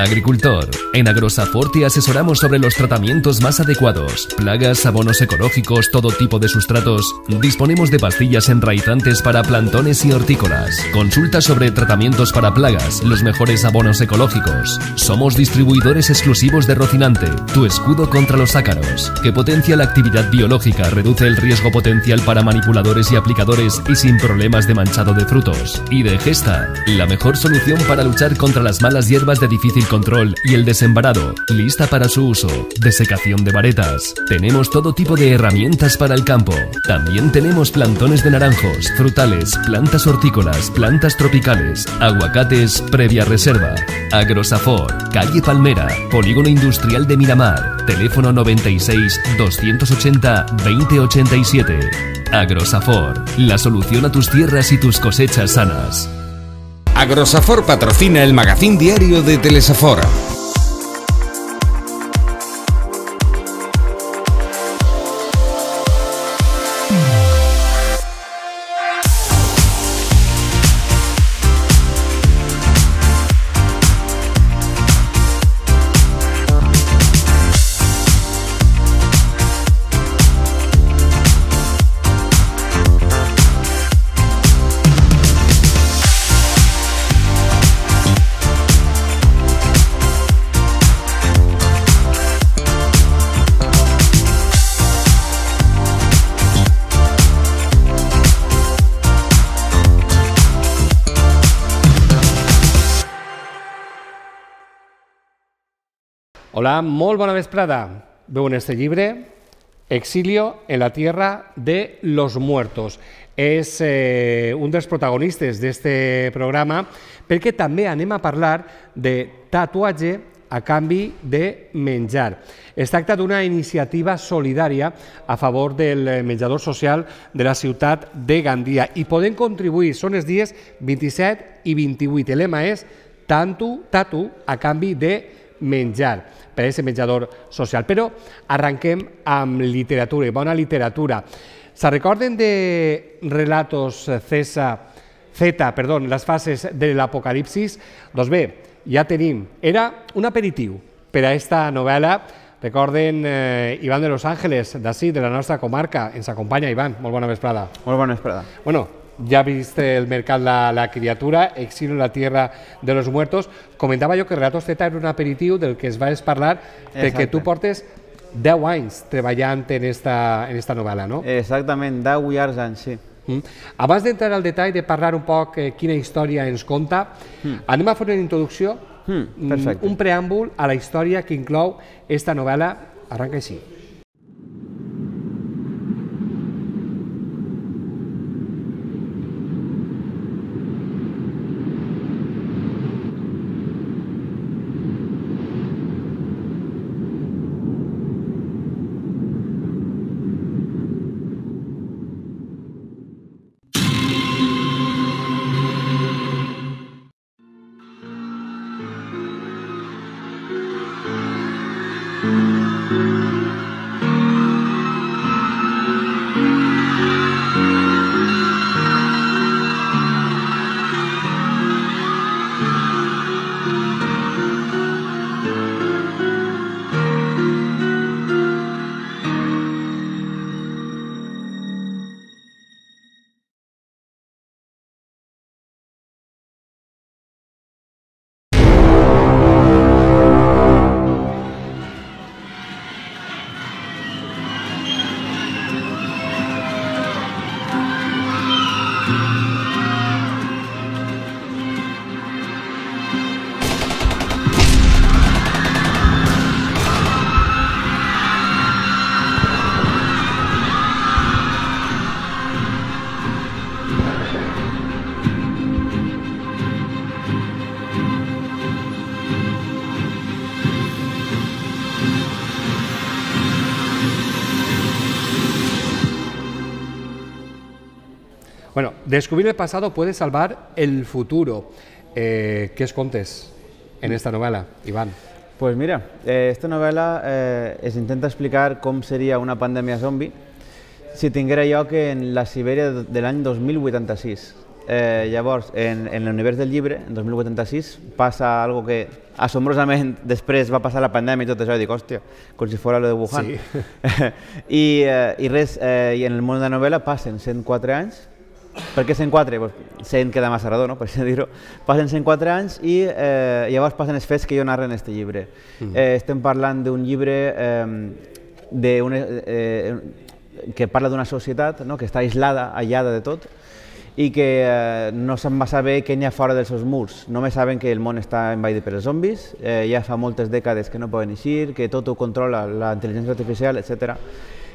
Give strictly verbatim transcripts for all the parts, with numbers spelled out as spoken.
Agricultor. En Agrosafor te asesoramos sobre los tratamientos más adecuados, plagas, abonos ecológicos, todo tipo de sustratos. Disponemos de pastillas enraizantes para plantones y hortícolas. Consulta sobre tratamientos para plagas, los mejores abonos ecológicos. Somos distribuidores exclusivos de Rocinante, tu escudo contra los ácaros, que potencia la actividad biológica, reduce el riesgo potencial para manipuladores y aplicadores y sin problemas de manchado de frutos. Y de Gesta, la mejor solución para luchar contra las malas hierbas de difícil control y el desembarado, lista para su uso. Desecación de varetas. Tenemos todo tipo de herramientas para el campo. También tenemos plantones de naranjos, frutales, plantas hortícolas, plantas tropicales, aguacates previa reserva. Agrosafor, calle Palmera, Polígono Industrial de Miramar. Teléfono noventa y seis, doscientos ochenta, veinte ochenta y siete. Agrosafor, la solución a tus tierras y tus cosechas sanas. Agrosafor patrocina el magazín diario de Telesafor. Hola, molt bona vesprada. Veu en este llibre Exilio en la tierra de los muertos. És eh, un dels protagonistes d'este programa perquè també anem a parlar de tatuatge a canvi de menjar. Es tracta d'una iniciativa solidària a favor del menjador social de la ciutat de Gandia i podem contribuir, són els dies vint-i-set i vint-i-vuit. El lema és Tatu, tatu a canvi de menjar per a aquest menjador social. Però arranquem amb literatura, i bona literatura. Se recorden de Relatos Z, Z, perdó, les fases de l'Apocalipsis? Doncs bé, ja tenim. Era un aperitiu per a aquesta novel·la. Recorden eh, Iván de Los Ángeles, d'ací, de la nostra comarca. Ens acompanya, Iván. Molt bona vesprada. Molt bona vesprada. Bueno, ya viste el mercado la, la criatura, Exilio en la tierra de los muertos. Comentava jo que Relatos Z era un aperitiu del que es va parlar perquè tu portes deu anys treballant en esta, en esta novel·la, no? Exactament, deu llargs anys, sí. Mm. Abans d'entrar al detall de parlar un poc eh, quina història ens conta, mm. anem a fer una introducció, mm, perfecte. un preàmbul a la història que inclou esta novel·la. Arranca així. Bueno, descubrir el pasado puede salvar el futuro. Eh, ¿Qué os contes en esta novela, Iván? Pues mira, eh, esta novel·la eh, es intenta explicar com seria una pandèmia zombi si tinguera lloc en la Sibèria de l'any dos mil vuitanta-sis. eh, llavors, en, en l'univers del llibre, en dos mil vuitanta-sis, passa algo que assombrosament després va passar la pandèmia i tot això, i dic, hòstia, com si fos lo de Wuhan. Sí. I, eh, I res, eh, i en el món de la novel·la passen cent quatre anys. Per què cent quatre? Pues cent queda massa redó, no? Per això dir-ho. Passen cent quatre anys i eh, llavors passen els fets que jo narro en aquest llibre. Mm. Eh, estem parlant d'un llibre eh, de una, eh, que parla d'una societat, no? Que està aislada, aïllada de tot, i que eh, no se'n va saber què n'hi ha fora dels seus murs. Només saben que el món està envaït per els zombis, eh, ja fa moltes dècades que no poden eixir, que tot ho controla la intel·ligència artificial, etcètera.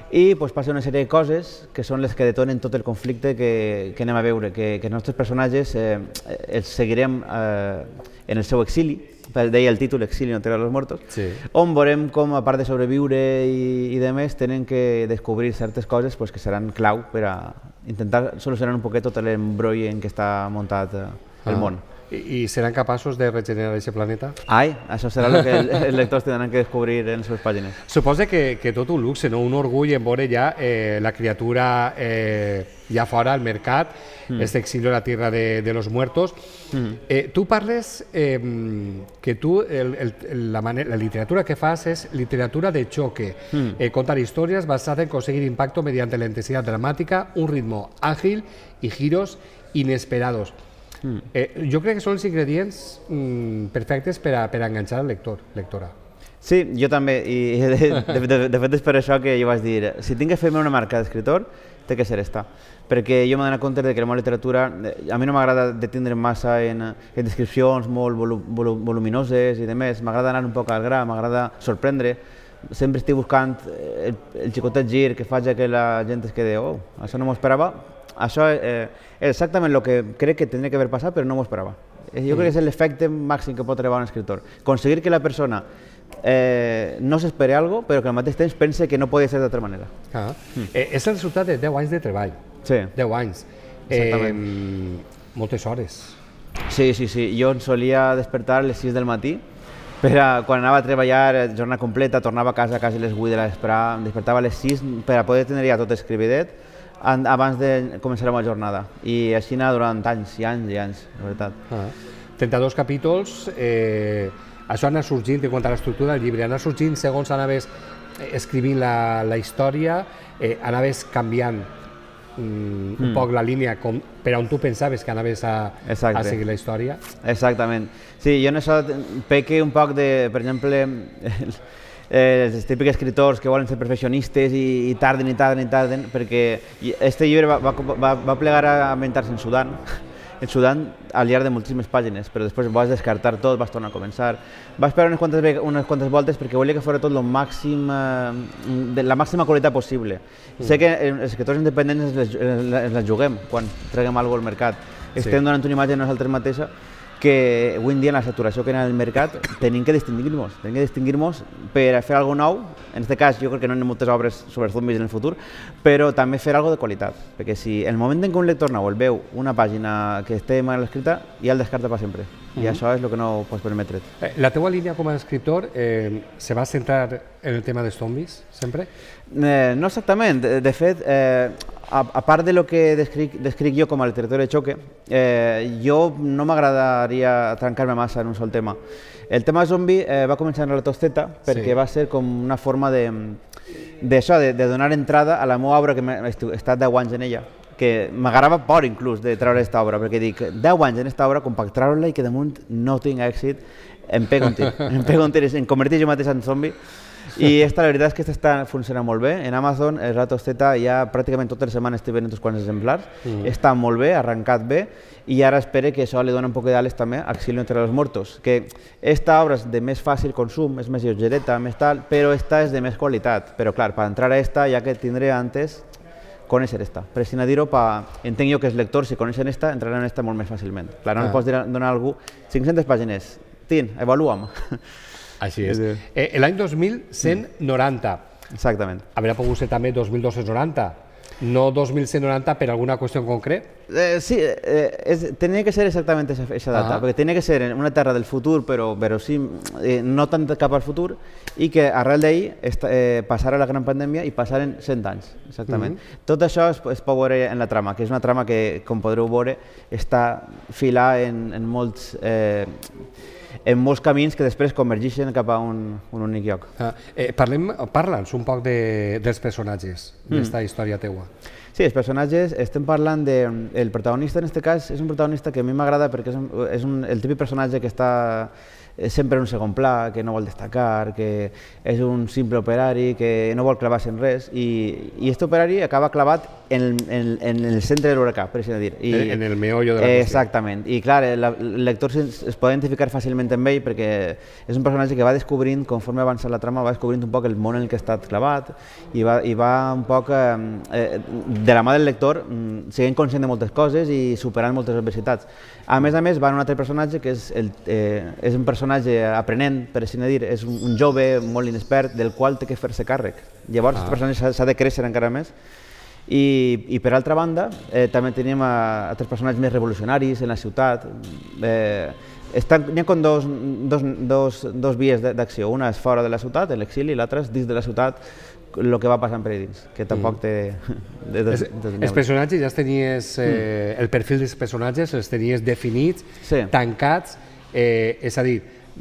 I pues, passa una sèrie de coses que són les que detonen tot el conflicte que, que anem a veure, que, que els nostres personatges eh, els seguirem eh, en el seu exili, deia el títol Exili en la Tierra de los Muertos, sí. On veurem com, a part de sobreviure i, i de més, tenen que descobrir certes coses pues, que seran clau per a intentar solucionar un poquet tot l'embroi en què està muntat eh, el ah. món. I, I seran capaços de regenerar aquest planeta? Ai, això serà el que els lectors tindran que descobrir en les seves pàgines. Suposa que, que tot un luxe, no? Un orgull en veure ja eh, la criatura eh, ja fora al mercat, mm. este exilio a la tierra de, de los muertos. Mm. Eh, tu parles eh, que tu, el, el, la, manera, la literatura que fas és literatura de choque, mm. eh, contar historias basadas en conseguir impacto mediante la intensidad dramática, un ritmo ágil y giros inesperados. Mm. Eh, jo crec que són els ingredients mm, perfectes per a, per a enganxar el lector, lectora. Sí, jo també, i de, de, de, de fet és per això que jo vaig dir, si tinc que fer-me una marca d'escriptor, té que ser esta, perquè jo m'he donat compte que la meva literatura, a mi no m'agrada detindre massa en, en descripcions molt volu, volu, voluminoses i demés, m'agrada anar un poc al gra, m'agrada sorprendre, sempre estic buscant el, el xicotet gir que faci que la gent es quede, oh, això no m'ho esperava. Això eh, és exactament el que crec que tindria que haver passat, però no m'ho esperava. Jo crec que és l'efecte màxim que pot arribar un escriptor. Aconseguir que la persona eh, no s'esperi alguna cosa, però que al mateix temps pense que no pot ser d'altra manera. Ah. Mm. Eh, és el resultat de deu anys de treball. Sí. deu anys. Exactament. Eh, moltes hores. Sí, sí, sí. Jo em solia despertar a les sis del matí, per a, quan anava a treballar jornada completa, tornava a casa a quasi les vuit de la vesprà, em despertava a les sis per a poder tenir ja tot escrividet abans de començar la meva jornada. I així anava durant anys i anys i anys, la veritat. Ah. trenta-dos capítols, eh, això anava sorgint, en quant a l'estructura del llibre, anava sorgint segons anaves escrivint la, la història, eh, anaves canviant mm, un mm. poc la línia com, per on tu pensaves que anaves a, a seguir la història. Exactament. Sí, jo en això peque un poc de, per exemple, Eh, els típics escriptors que volen ser perfeccionistes i, i tarden i tarden i tarden, perquè este llibre va, va, va, va plegar a ambientar-se en Sudan, en Sudan al llarg de moltíssimes pàgines, però després vas descartar tot, vas tornar a començar. Va esperar unes quantes, unes quantes voltes perquè volia que fos tot lo màxim, eh, de la màxima qualitat possible. Mm. Sé que els escriptors independents ens les, les juguem quan treguem alguna cosa al mercat. Sí. Estem donant una imatge a nosaltres mateixa que avui en dia, en la saturació que hi ha en el mercat, tenim que distingir-nos, tenim que distingir-nos per a fer alguna cosa nou. En aquest cas, jo crec que no hi ha moltes obres sobre zombis en el futur, però també fer alguna cosa de qualitat, perquè si en el moment en què un lector nou el veu una pàgina que esté mal escrita, ja el descarta per sempre, i uh-huh. això és el que no pots permetre. La teva línia com a escriptor eh, se va centrar en el tema dels zombis, sempre? Eh, no exactament, de, de fet, eh, a, a part de lo que descric, descric jo com a literatura de xoque, eh, jo no m'agradaria trencar-me massa en un sol tema. El tema zombi eh, va començar en la Tosteta perquè sí. va ser com una forma de, d'això, de, de donar entrada a la meva obra, que he estat deu anys en ella, que m'agradava por inclús de treure aquesta obra, perquè dic, deu anys en aquesta obra, com per treure-la i que damunt no tinc èxit, em pego un tir, em pego un tir, em converteix jo mateix en zombi. I esta, la veritat és que aquesta està funcionant molt bé. En Amazon, el Ratosteta, ja pràcticament totes les setmanes estic venent uns quants exemplars. Mm. Està molt bé, ha arrencat bé, i ara espero que això li doni un poc d'ales també a Exilio entre los Muertos, que esta obra és de més fàcil consum, és més lleugereta, més tal, però esta és de més qualitat. Però clar, per entrar a esta, ja que tindré antes conèixer esta. Per si no dir-ho, entenc jo que els lectors, si coneixen esta, entraran en esta molt més fàcilment. Clar, no ah. li pots donar a algú cinc-centes pàgines. Tin, avalua'm. Així és. Eh, L'any dos mil cent noranta. Exactament. Haurà pogut ser també dos mil dos-cents noranta. no dos mil cent noranta per alguna qüestió en concret? Eh, sí, eh, es, tenía que ser exactamente esa, esa data, Ajá. porque tenía que ser en una terra del futur, però, però sí, eh, no tant cap al futur, i que arrel d'ahir eh, passara la gran pandèmia i passaren cent anys, exactament. Mm-hmm. Tot això es, es pot veure en la trama, que és una trama que, com podreu veure, està filada en, en molts... Eh, en molts camins que després convergeixen cap a un, un únic lloc. Ah, eh, parlem, parla'ns un poc de, dels personatges d'esta mm. història teua. Sí, els personatges, estem parlant de... El protagonista en aquest cas és un protagonista que a mi m'agrada perquè és, un, és un, el típic personatge que està sempre en un segon pla, que no vol destacar, que és un simple operari, que no vol clavar-se en res, i, i aquest operari acaba clavat en, en, en el centre de l'huracà, per així dir. I, en el meollo de la qüestió. Exactament. I clar, el, el lector es, es pot identificar fàcilment amb ell perquè és un personatge que va descobrint, conforme avança la trama, va descobrint un poc el món en el que ha estat clavat i va, i va un poc, eh, de la mà del lector, sent conscient de moltes coses i superant moltes adversitats. A més a més, va un altre personatge que és, el, eh, és un personatge aprenent, per així dir, és un, un jove molt inexpert del qual té que fer-se càrrec. Llavors, ah. aquest personatge s'ha de créixer encara més. I, i per altra banda, eh, també tenim a, altres personatges més revolucionaris en la ciutat. Eh, N'hi ha com dos, dos, dos, dos vies d'acció. Una és fora de la ciutat, en l'exili, i l'altra és dins de la ciutat, el que va passant per dins, que tampoc té... De, de, de, de, els personatges ja tenies, eh, mm. el perfil dels personatges els tenies definits, sí. tancats, eh, és a dir,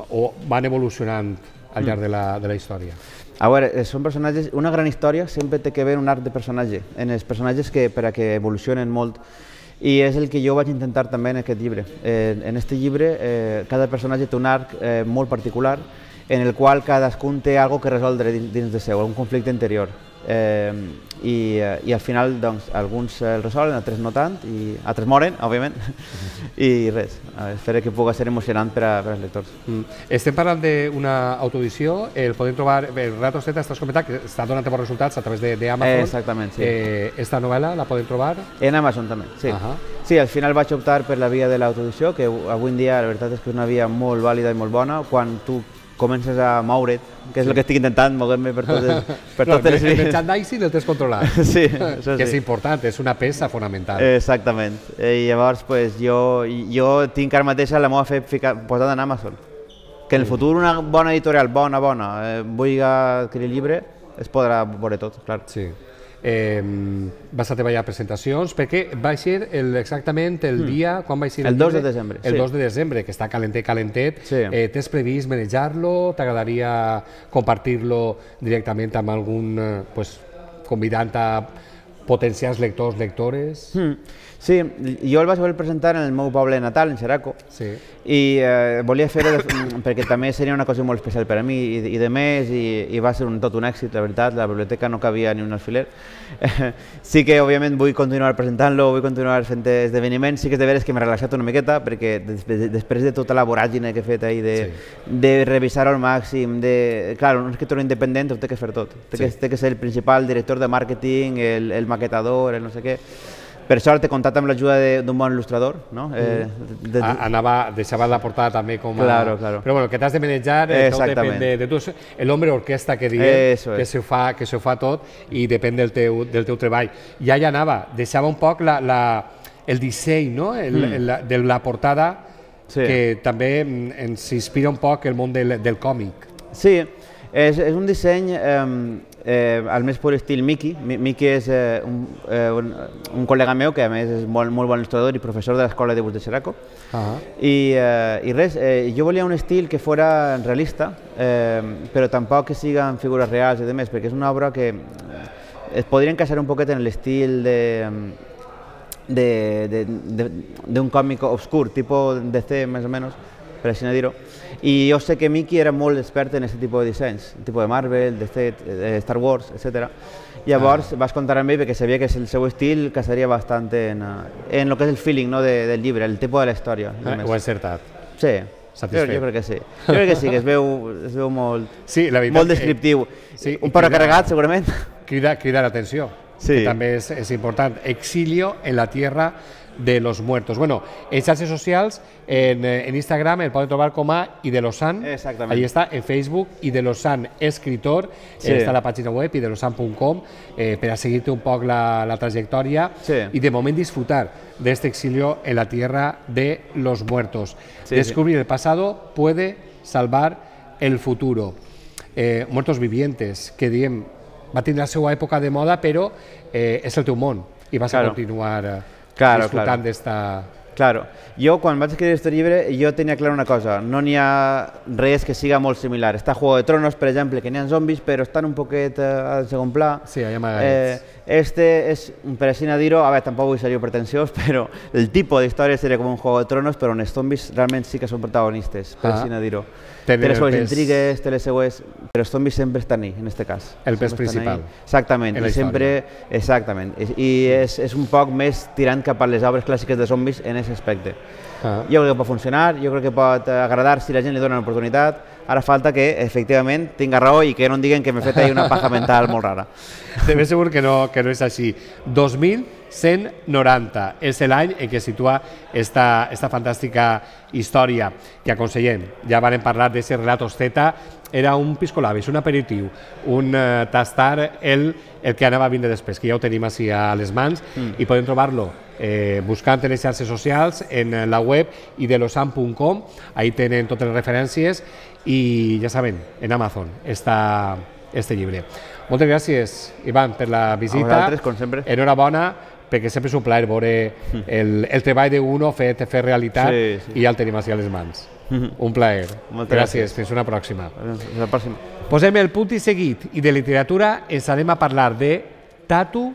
o van evolucionant al llarg de la, de la història. A veure, són personatges... Una gran història sempre té que haver un arc de personatge, en els personatges que, per a que evolucionen molt, i és el que jo vaig intentar també en aquest llibre. Eh, en aquest llibre, eh, cada personatge té un arc eh, molt particular, en el qual cadascun té alguna que resoldre dins, dins de seu, un conflicte interior. Eh, i, I al final, doncs, alguns el resolen, altres no tant, i altres moren, òbviament, i res, espero que pugui ser emocionant per, a, per als lectors. Mm. Estem parlant d'una autoedició, el podem trobar, el Rato Z, estàs comentant que està donant bons resultats a través d'Amazon. Eh, exactament, sí. Eh, esta novel·la la podem trobar? En Amazon també, sí. Uh -huh. Sí, al final vaig optar per la via de l'autoedició, que avui en dia la veritat és que és una via molt vàlida i molt bona, quan tu comences a moure't, que és sí. el que estic intentant, moure-me per totes, per no, totes les vies. El merchandising el tens controlat, sí, això que sí. és important, és una peça fonamental. Exactament. I llavors pues, jo, jo tinc ara mateix la meva fe posada en Amazon. Que en el futur una bona editorial, bona, bona, eh, vulgui adquirir el llibre, es podrà veure tot, clar. Sí. Eh, vas a treballar presentacions, perquè va ser el, exactament el dia, quan va ser el, el dos de desembre. El sí. dos de desembre, que està calentet, calentet. Sí. Eh, Tens previst manejar-lo? T'agradaria compartir-lo directament amb algun, eh, pues, convidant a potencials lectors, lectores? Mm. Sí, jo el vaig voler presentar en el meu poble natal, en Xeraco, sí. i eh, volia fer-ho perquè també seria una cosa molt especial per a mi, i, i de més, i, i va ser un, tot un èxit, la veritat, la biblioteca no cabia ni un alfiler. Eh, sí que, òbviament, vull continuar presentant-lo, vull continuar fent esdeveniments, sí que és de veres que m'he relaxat una miqueta, perquè des, de, després de tota la voràgine que he fet ahir, de, sí. de revisar al màxim, de... Clar, un escriptor independent ho té que fer tot, té, sí. que, té que ser el principal director de màrqueting, el, el maquetador, el no sé què. Per això he comptat amb l'ajuda d'un bon il·lustrador, no? Eh, de, de... Anava, deixava la portada també com a... Claro, claro. Però bueno, que t'has de manejar, eh, tot depèn de, de tu. L'home orquestra que diem, que s'ho fa, que s'ho fa tot i depèn del teu, del teu treball. Ja ja anava, deixava un poc la, la, el disseny, no? El, mm. el, de la portada, sí. que també ens inspira un poc el món del, del còmic. Sí, és, és un disseny... Eh, Eh, al més pur estil Miki. Miki és eh, un, eh, un, un col·lega meu que a més és molt, molt bon il·lustrador i professor de l'escola de dibuix de Xeraco. Uh-huh. I, eh, I res, eh, jo volia un estil que fora realista, eh, però tampoc que siguin figures reals i demés, perquè és una obra que es podria encaixar un poquet en l'estil de d'un còmic obscur, tipus D C més o menys, per així dir-ho. I jo sé que Miki era molt expert en aquest tipus de dissenys, tipus de Marvel, D C, Star Wars, etcètera. Llavors ah. vas comptar amb ell perquè sabia que el seu estil casaria bastant en, en el que és el feeling, no, de, del llibre, el tipus de la història. Ah, ho he encertat. Sí, jo, jo crec que sí. Jo crec que sí, que es veu, es veu molt, sí, la molt descriptiu. Sí, un però carregat, segurament. Crida, crida l'atenció, sí. que també és, és important. Exilio en la tierra de los muertos. Bueno, en xarxes socials, en, en Instagram el poden trobar com a Idelosan. Exactament. Ahí está, en Facebook, Idelosan Escritor, Sí. està a la pàgina web, idelosan punt com, eh, per a seguir-te un poc la, la trajectòria Sí. y de moment disfrutar de este exilio en la tierra de los muertos. Sí, Descubrir sí. el pasado puede salvar el futuro. Eh, muertos vivientes, que diem, va tindre la seva època de moda, però eh, és el teu món i vas Claro. a continuar eh, Claro, disfrutant claro. d'esta... Claro, jo quan vaig escriure aquest llibre jo tenia clar una cosa, no n'hi ha res que siga molt similar. Està Juego de Tronos, per exemple, que n'hi ha zombis però estan un poquet eh, al segon pla. Sí, hi ha amagaets. Eh, este és, per així dir-ho, a veure, tampoc vull ser jo pretensiós, però el tipus d'història seria com un Juego de Tronos, però on els zombis realment sí que són protagonistes, per Ah. així dir-ho. Tenen Té les el seues pes- intrigues, té les seues... Però els zombis sempre estan ahí, en aquest cas. El pes Sempre estan principal. ahí. Exactament, en la i sempre... Exactament, i, i és, és un poc més tirant cap a les obres clàssiques de zombis en aquest aspecte. Ah. Jo crec que pot funcionar, jo crec que pot eh, agradar si la gent li dona l'oportunitat. Ara falta que, efectivament, tinga raó i que no em diguen que m'he fet ahí una paja mental molt rara. De ben segur que no, que no és així. dos mil cent noranta és l'any en què situa esta, esta fantàstica història que aconsellem. Ja vam parlar d'aquest Relatos Z, era un piscolabis, un aperitiu, un eh, tastar el, el que anava a vindre després, que ja ho tenim així a les mans mm. i podem trobar-lo eh, buscant en les xarxes socials, en la web idelosan punt com, ahí tenen totes les referències i ja saben, en Amazon està este llibre. Moltes gràcies, Ivan, per la visita. A vosaltres, com sempre. Enhorabona, perquè sempre és un plaer veure el, el treball d'uno fet, fet realitat Sí, sí. i ja el tenim així a les mans. Un plaer. Moltes gràcies. gràcies. Fins una pròxima. Fins la pròxima. Posem el punt i seguit i de literatura ens anem a parlar de tatu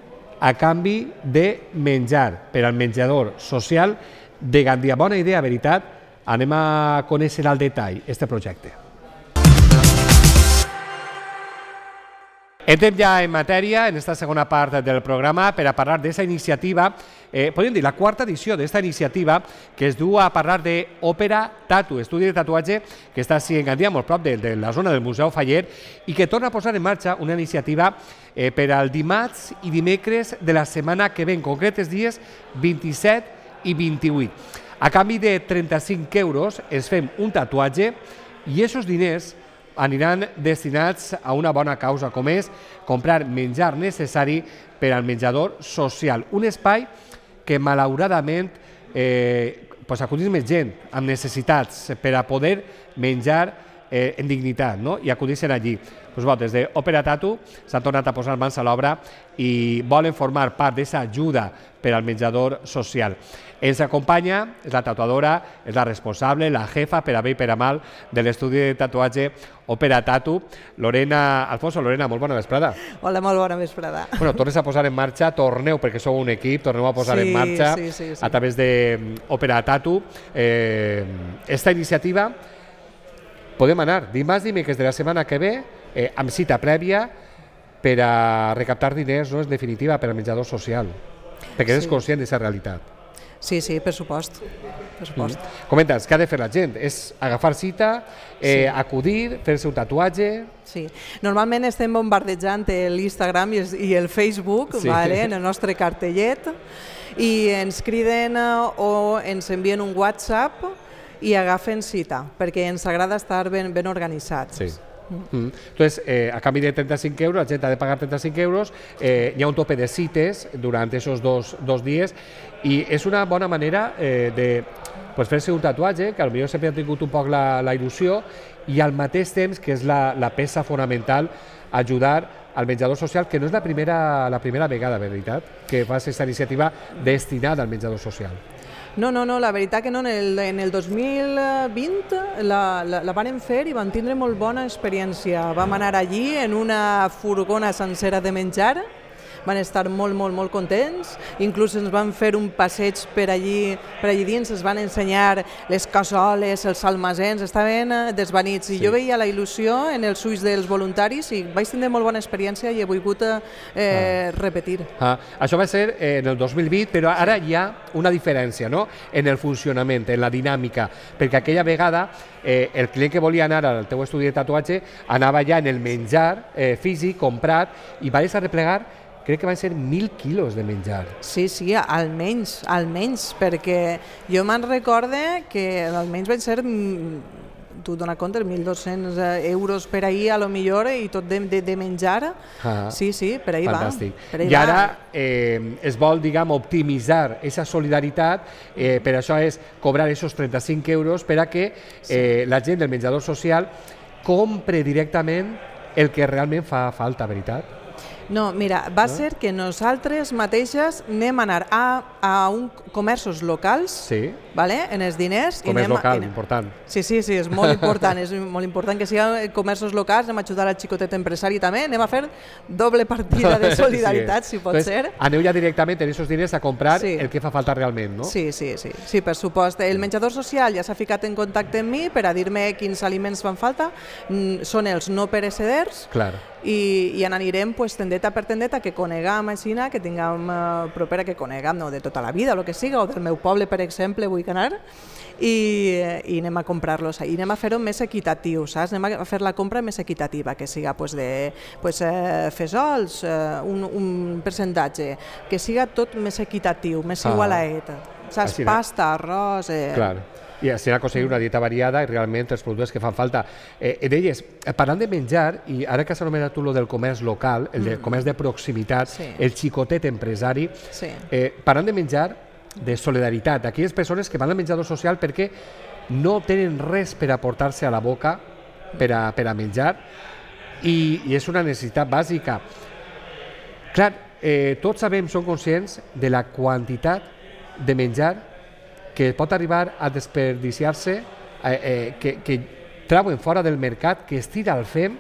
a canvi de menjar per al menjador social de Gandia. Bona idea, veritat. Anem a conèixer al detall este projecte. Entrem ja en matèria, en esta segona part del programa, per a parlar d'aquesta iniciativa, eh, podríem dir, la quarta edició d'esta iniciativa, que es du a parlar d'Òpera Tatu, estudi de tatuatge que està així en Gandia, molt prop de, de la zona del Museu Faller, i que torna a posar en marxa una iniciativa eh, per al dimarts i dimecres de la setmana que ve, en concret els dies vint-i-set i vint-i-vuit. A canvi de trenta-cinc euros es fem un tatuatge i aquests diners aniran destinats a una bona causa, com és comprar menjar necessari per al menjador social. Un espai que, malauradament, eh, pues, acudís més gent amb necessitats per a poder menjar eh, en dignitat, no? I acudissin allí. Pues, bueno, des d'Òpera Tatu s'han tornat a posar mans a l'obra i volen formar part d'aquesta ajuda per al menjador social. Ens acompanya, és la tatuadora, és la responsable, la jefa, per a bé i per a mal, de l'estudi de tatuatge Òpera Tatu, Lorena Alfonso. Lorena, molt bona vesprada. Hola, molt bona vesprada. Bueno, tornes a posar en marxa, torneu, perquè sou un equip, torneu a posar Sí, en marxa sí, sí, sí. a través d'Òpera Tatu. Eh, esta iniciativa podem anar dimarts, dimecres de la setmana que ve, eh, amb cita prèvia per a recaptar diners, no, en definitiva, per al menjador social, perquè és Sí. conscient d'aquesta realitat. Sí, sí, per supost. Per supost. Mm. Comentes, què ha de fer la gent? És agafar cita, eh, Sí. acudir, fer-se un tatuatge... Sí. Normalment estem bombardejant l'Instagram i el- i el Facebook, Sí. vale, en el nostre cartellet, i ens criden eh, o ens envien un WhatsApp i agafen cita, perquè ens agrada estar ben, ben organitzats. Sí. Mm. Entonces, eh, a canvi de trenta-cinc euros, la gent ha de pagar trenta-cinc euros, eh, hi ha un tope de cites durant aquests dos, dos dies i és una bona manera eh, de pues, fer-se un tatuatge, que potser sempre ha tingut un poc la, la il·lusió, i al mateix temps, que és la, la peça fonamental, ajudar al menjador social, que no és la primera, la primera vegada, veritat, que fas aquesta iniciativa destinada al menjador social. No, no, no, la veritat que no, en el, en el dos mil vint la, la, la van fer i van tindre molt bona experiència. Vam anar allí en una furgona sencera de menjar, van estar molt, molt, molt contents, inclús ens van fer un passeig per allí, per allí dins, ens van ensenyar les cassoles, els almacens, estaven eh, desvanits, i Sí. jo veia la il·lusió en els ulls dels voluntaris i vaig tenir molt bona experiència i he volgut eh, ah. repetir. Ah, això va ser eh, en el dos mil vint, però ara hi ha una diferència, no?, en el funcionament, en la dinàmica, perquè aquella vegada eh, el client que volia anar al teu estudi de tatuatge anava ja en el menjar eh, físic, comprat, i va arreplegar crec que van ser mil quilos de menjar. Sí, sí, almenys, almenys, perquè jo me'n recorde que almenys van ser, tu dona compte, mil dos-cents euros per ahir a lo millor i tot de, de, de menjar. Ah, sí, sí, per ahir fantàstic. va. Per ahir I ara eh, es vol, diguem, optimitzar aquesta solidaritat, eh, per això és cobrar aquests trenta-cinc euros per a que eh, sí. la gent del menjador social compre directament el que realment fa falta, veritat? No, mira, va no? ser que nosaltres mateixes anem a anar a, a un comerços locals, sí. vale? En els diners. Comerç i anem local, a, important. Sí, sí, sí, és molt important, és molt important que siguin comerços locals, anem a ajudar al xicotet empresari també, anem a fer doble partida de solidaritat, sí. si pot Entonces, ser. Aneu ja directament en aquests diners a comprar sí. el que fa falta realment, no? Sí, sí, sí, sí, per supost. El menjador social ja s'ha ficat en contacte amb mi per a dir-me quins aliments fan falta, mm, són els no pereceders. Clar. I, i anirem pues, tendeta per tendeta, que coneguem així, que tinguem uh, propera, que coneguem no, de tota la vida, o el que siga, o del meu poble, per exemple, vull anar, i, i anem a comprar-los i anem a fer-ho més equitatiu, saps? Anem a fer la compra més equitativa, que siga pues, de pues, eh, fesols, eh, un, un percentatge, que siga tot més equitatiu, més ah. igualaet, saps? Així, pasta, arròs... Eh... Clar. I així aconseguir una dieta variada i realment els productes que fan falta. Eh, deies, parlant de menjar, i ara que s'ha anomenat tu lo del comerç local, el de comerç de proximitat, sí. el xicotet empresari, sí. eh, parlant de menjar, de solidaritat, aquelles persones que van al menjador social perquè no tenen res per aportar-se a la boca per a, per a menjar i, i és una necessitat bàsica. Clar, eh, tots sabem, som conscients de la quantitat de menjar que pot arribar a desperdiciar-se, eh, eh, que, que trauen fora del mercat, que es tira al fem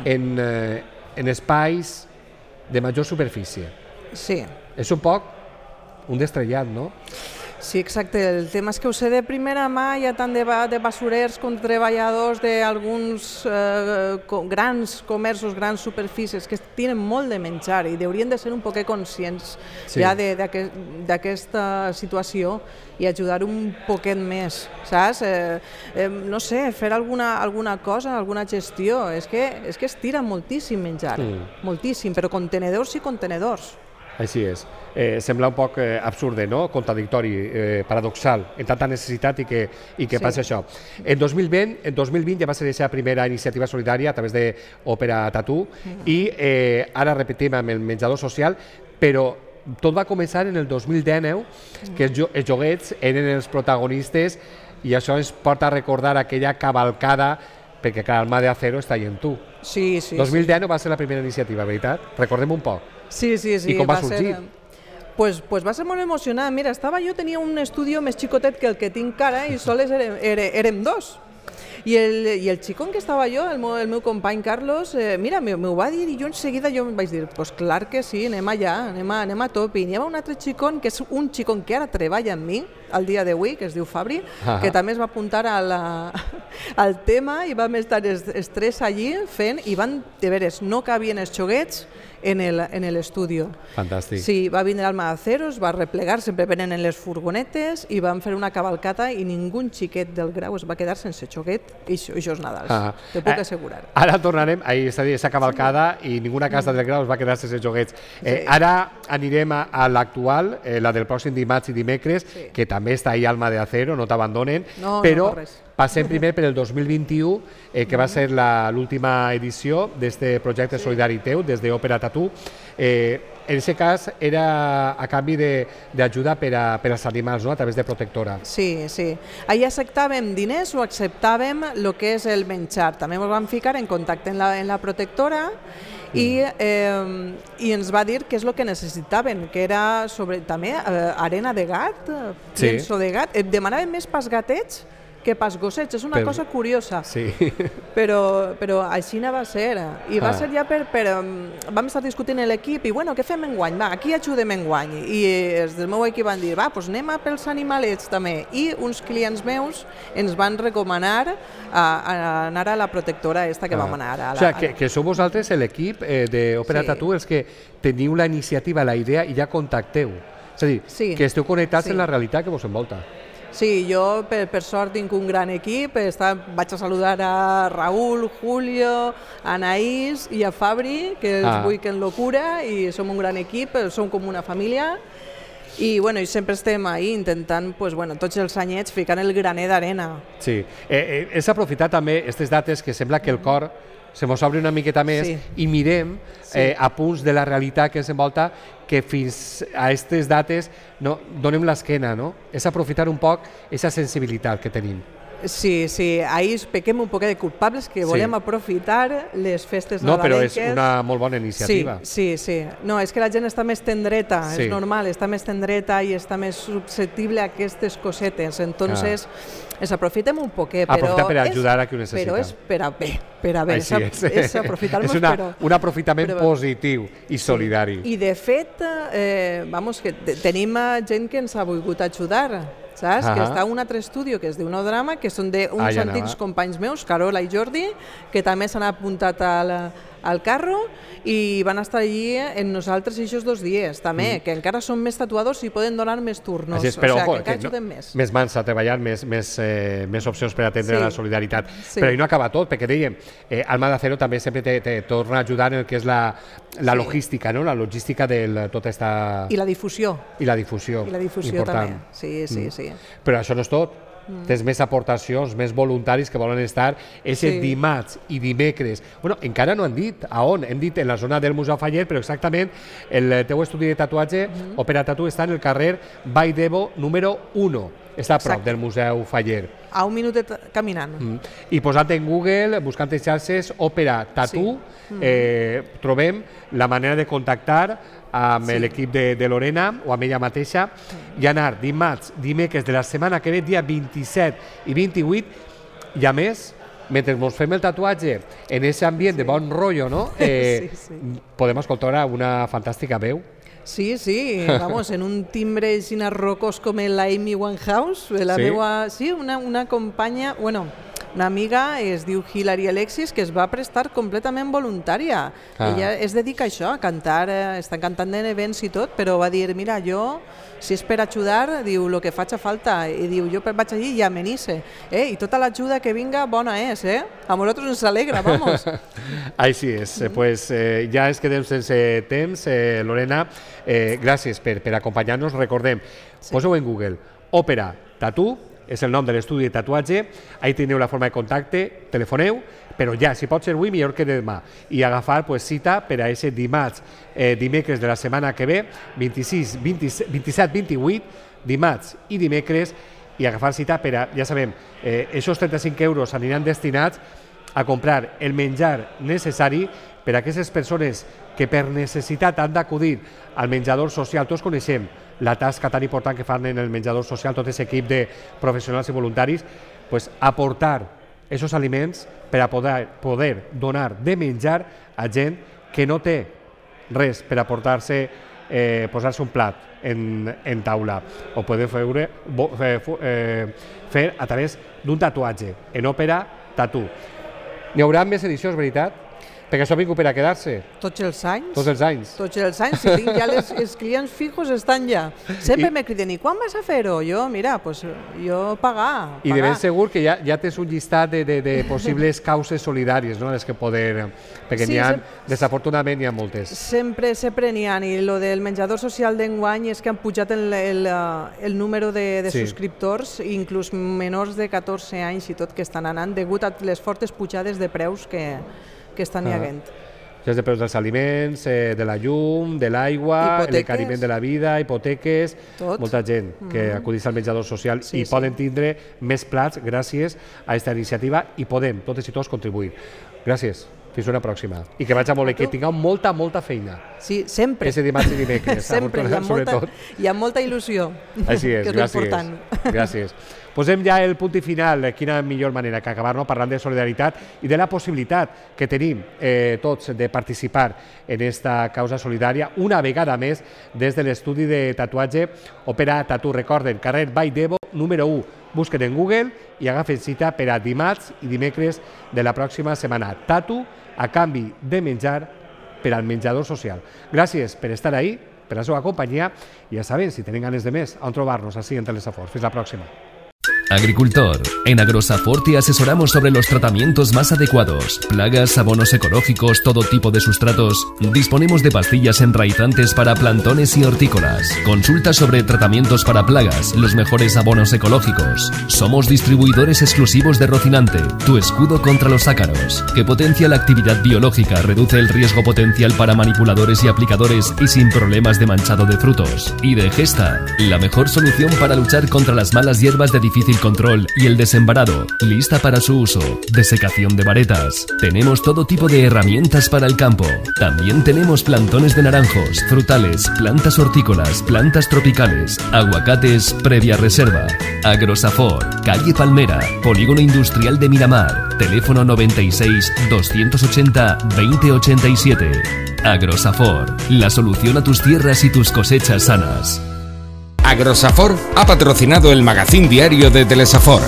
en, eh, en espais de major superfície. Sí. És un poc un destrellat, no? Sí, exacte. El tema és que ho sé de primera mà, hi ha tant de, de basurers com treballadors d'alguns eh, grans comerços, grans superfícies que tenen molt de menjar i haurien de ser un poc conscients sí. ja d'aquesta situació i ajudar un poquet més, saps? Eh, eh, no sé, fer alguna, alguna cosa, alguna gestió. És que, és que es tira moltíssim menjar, sí. moltíssim, però contenedors i contenedors. Així és. Eh, sembla un poc eh, absurd, no? Contradictori, eh, paradoxal, en tanta necessitat i que, i que sí. passa això. En dos mil vint, en dos mil vint ja va ser aquesta primera iniciativa solidària a través d'Òpera Tattoo mm. i eh, ara repetim amb el menjador social, però tot va començar en el dos mil dinou, que els, els joguets eren els protagonistes i això ens porta a recordar aquella cavalcada perquè clar, el mà de acero està allà en tu. Sí, sí. dos mil dinou va ser la primera iniciativa, veritat? Recordem un poc. Sí, sí, sí. I com va, va sorgir? Ser... Pues, pues va ser molt emocionant. Mira, estava jo, tenia un estudi més xicotet que el que tinc ara i sols érem, érem dos. I el, i el xicón que estava jo, el meu, el meu company Carlos, eh, mira, m'ho va dir i jo en seguida jo em vaig dir, pues clar que sí, anem allà, anem a, anem a top. I n'hi ha un altre xicón, que és un xicón que ara treballa amb mi, al dia d'avui, que es diu Fabri, ah. que també es va apuntar a la, al tema i vam estar els, els tres allí fent i van, de veres, no cabien els xoguets en l'estudi. Fantàstic. Sí, va vindre el Madacero, es va replegar, sempre venen en les furgonetes i van fer una cavalcata i ningú xiquet del Grau es va quedar sense xoguet i això és Nadal, ah. te puc assegurar. Eh, ara tornarem a aquesta cavalcada i ninguna casa del Grau es va quedar sense xoguets. Eh, sí. Ara anirem a, a l'actual, eh, la del pròxim dimarts i dimecres, sí. que també està ahí Alma de Acero, no t'abandonen, no, però no res. Passem primer per el dos mil vint-i-u, eh, que va ser l'última edició d'aquest projecte sí. solidari teu, des d'Òpera Tattoo. Eh, en aquest cas era a canvi d'ajuda per, a, per als animals, no? A través de Protectora. Sí, sí. Allà acceptàvem diners o acceptàvem el que és el menjar. També ens vam ficar en contacte en la, en la Protectora i, eh, i ens va dir què és el que necessitaven, que era sobre, també eh, arena de gat, sí. llenço de gat. Demanaven més pas gatets que pas gossets, és una per... cosa curiosa, sí. però, però així va ser, i va ah. ser ja per, per... vam estar discutint l'equip, i bueno, què fem enguany? Va, aquí ajudem enguany, i els del meu equip van dir, va, doncs anem a pels animalets també, i uns clients meus ens van recomanar a, a anar a la Protectora esta que ah. vam anar. A la, o sigui, que, que sou vosaltres l'equip eh, d'Òpera sí. Tattoo els que teniu la iniciativa, la idea, i ja contacteu. És a dir, sí. que esteu connectats sí. en la realitat que vos envolta. Sí, jo per, per sort tinc un gran equip, està, vaig a saludar a Raúl, Julio, a Anaís i a Fabri, que els Ah. vull que en locura, i som un gran equip, som com una família, i, bueno, i sempre estem ahí intentant, pues, bueno, tots els anyets ficant el graner d'arena. Sí, eh, eh, és aprofitar també aquestes dates que sembla que el cor se mos obre una miqueta més Sí. i mirem Sí. eh, a punts de la realitat que ens envolta que fins a aquestes dates no, donem l'esquena, no? És aprofitar un poc aquesta sensibilitat que tenim. Sí, sí, ahir pequem un poquet de culpables que Sí. volem aprofitar les festes No, però nadalenques. és una molt bona iniciativa. Sí, sí, sí. No, és que la gent està més tendreta, Sí. és normal, està més tendreta i està més susceptible a aquestes cosetes. Entonces, es aprofitem un poquet, però... Aprofita per és- ajudar a qui ho necessita. Però és per a bé, per a bé. Així és, és. és aprofitar-nos, És una, però... un aprofitament però- positiu i solidari. I de fet, eh, vamos, que te- tenim eh, gent que ens ha volgut ajudar, saps? Ahà. Que està a un altre estudio que es diu Nodrama, que són d'uns Ah, ja antics anava. companys meus, Carola i Jordi, que també s'han apuntat al, al carro i van estar allí en nosaltres aquests dos dies, també, mm. que encara són més tatuadors i poden donar més turnos. Així és, però, o sigui, ojo, que encara que ajudem no, més. més mans a treballar, més, més, eh, més opcions per atendre Sí. la solidaritat. Sí. Però ahí no acaba tot, perquè dèiem, eh, Alma de Cero també sempre te, te torna a ajudar en el que és la, la Sí. logística, no? La logística de tota esta... I la difusió. I la difusió. I la difusió important. també. Sí, sí, Mm. sí. Però això no és tot. Mm. Tens més aportacions, més voluntaris que volen estar ese Sí. dimarts i dimecres. Bueno, encara no han dit a on. Hem dit en la zona del Museu Fallet, però exactament el teu estudi de tatuatge, mm. Òpera Tatu, està en el carrer Vall d'Ebo número u. Està a prop Exacte. del Museu Fallet. A un minutet caminant. Mm. I posant en Google, buscant en xarxes, Òpera Tatu, Sí. eh, trobem la manera de contactar amb Sí. l'equip de, de Lorena o amb ella mateixa i anar dimarts, dimecres de la setmana que ve, dia vint-i-set i vint-i-vuit, i a més, mentre ens fem el tatuatge en aquest ambient sí. de bon rotllo, no? Eh, Sí, sí. podem escoltar una fantàstica veu. Sí, sí, vamos, en un timbre així rocós com la Amy Winehouse, la Sí? meua, sí, una, una companya, bueno, una amiga es diu Hilary Alexis, que es va prestar completament voluntària. Ah. Ella es dedica a això, a cantar, eh, està cantant en events i tot, però va dir, mira, jo, si és per ajudar, diu, el que faig a falta, i diu, jo vaig allí i amenice, eh? I tota l'ajuda que vinga, bona és, eh? A nosaltres ens alegra, vamos. Així és, eh, pues, eh, ja ens quedem sense temps. Eh, Lorena, eh, gràcies per, per acompanyar-nos. Recordem, sí. Poseu en Google Òpera Tatu, és el nom de l'estudi de tatuatge, ahí teniu la forma de contacte, telefoneu, però ja, si pot ser avui, millor que demà, i agafar pues, cita per a aquest dimarts, eh, dimecres de la setmana que ve, vint-i-sis, vint-i-set, vint-i-vuit, dimarts i dimecres, i agafar cita per a, ja sabem, eh, aquests trenta-cinc euros aniran destinats a comprar el menjar necessari per a aquestes persones que per necessitat han d'acudir al menjador social. Tots coneixem la tasca tan important que fan en el menjador social tot aquest equip de professionals i voluntaris, pues, aportar aquests aliments per a poder, poder donar de menjar a gent que no té res per aportar-se, eh, posar-se un plat en, en taula. Ho podeu fer, fer, eh, fer a través d'un tatuatge, en Òpera Tatu. N'hi haurà més edicions, veritat? Perquè això ha vingut per a quedar-se Tots els anys. tots els anys. Tots els anys, si tinc ja les, els clients fijos estan ja. Sempre I- me criden, i quan vas a fer-ho? Jo, mira, pues, jo pagar, I de pagar. ben segur que ja, ja tens un llistat de, de, de possibles causes solidàries, no?, les que poder... Perquè Sí, n'hi ha, sem- desafortunadament, n'hi ha moltes. Sempre, sempre n'hi ha, i lo del menjador social d'enguany és que han pujat el, el, eh, el número de, de Sí. subscriptors, inclús menors de catorze anys i tot, que estan anant degut a les fortes pujades de preus que, que estan hi Ah. havent. Ja és de preus dels aliments, eh, de la llum, de l'aigua, Hipoteques. l'encariment de la vida, hipoteques, Tot. molta gent que acudeix al menjador social Sí, i sí. poden tindre més plats gràcies a aquesta iniciativa i podem, totes i tots, contribuir. Gràcies. Fins una pròxima. I que vaig a molt, que tingueu molta, molta feina. Sí, sempre. Ese dimarts i dimecres, sempre, hi ha, molta, sobretot. hi ha molta il·lusió, Així és, que és gràcies. l'important. Gràcies. Posem ja el punt i final. Quina millor manera que acabar-nos parlant de solidaritat i de la possibilitat que tenim eh, tots de participar en esta causa solidària una vegada més des de l'estudi de tatuatge Òpera Tatu. Recorden, carrer Vall d'Ebo, número u. Busquen en Google i agafen cita per a dimarts i dimecres de la pròxima setmana. Tatu a canvi de menjar per al menjador social. Gràcies per estar ahí, per la seva companyia, i ja saben, si tenen ganes de més, on trobar-nos així en Telesafort. Fins la pròxima. Agricultor, en Agrosafor te asesoramos sobre los tratamientos más adecuados, plagas, abonos ecológicos, todo tipo de sustratos. Disponemos de pastillas enraizantes para plantones y hortícolas. Consulta sobre tratamientos para plagas, los mejores abonos ecológicos. Somos distribuidores exclusivos de Rocinante, tu escudo contra los ácaros, que potencia la actividad biológica, reduce el riesgo potencial para manipuladores y aplicadores y sin problemas de manchado de frutos. Y de Gesta, la mejor solución para luchar contra las malas hierbas de difícil control y el desembarado, lista para su uso. Desecación de varetas. Tenemos todo tipo de herramientas para el campo. También tenemos plantones de naranjos, frutales, plantas hortícolas, plantas tropicales, aguacates previa reserva. Agrosafor, calle Palmera, Polígono Industrial de Miramar. Teléfono noventa y seis, doscientos ochenta, veinte ochenta y siete. Agrosafor, la solución a tus tierras y tus cosechas sanas. Agrosafor ha patrocinado el magazín diario de Telesafor.